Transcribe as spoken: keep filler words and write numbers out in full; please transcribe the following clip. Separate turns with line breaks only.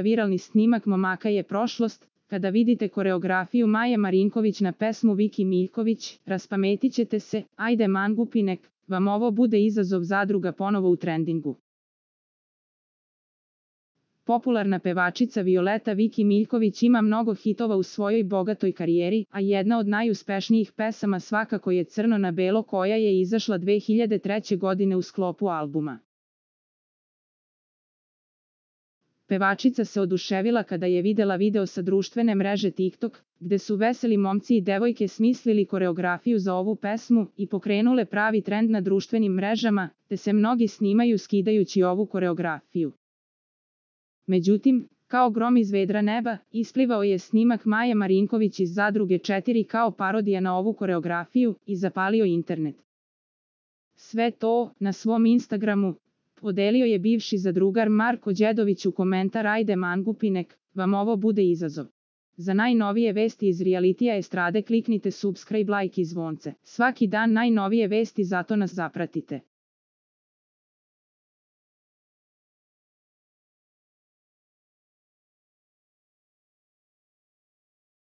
Viralni snimak momaka je prošlost. Kada vidite koreografiju Maje Marinković na pesmu Viki Miljković, raspametit ćete se, ajde mangupinek, vam ovo bude izazov zadruga ponovo u trendingu. Popularna pevačica Violeta Viki Miljković ima mnogo hitova u svojoj bogatoj karijeri, a jedna od najuspešnijih pesama svakako je Crno na belo koja je izašla dve hiljade treće. godine u sklopu albuma. Pevačica se oduševila kada je videla video sa društvene mreže TikTok, gde su veseli momci i devojke smislili koreografiju za ovu pesmu i pokrenule pravi trend na društvenim mrežama, te se mnogi snimaju skidajući ovu koreografiju. Međutim, kao grom iz vedra neba, isplivao je snimak Maje Marinković iz Zadruge četiri kao parodija na ovu koreografiju i zapalio internet. Sve to, na svom Instagramu, podelio je bivši zadrugar Marko Đedović u komentar ajde mangupinek, vam ovo bude izazov. Za najnovije vesti iz realitija estrade kliknite subscribe, like i zvonce. Svaki dan najnovije vesti, zato nas zapratite.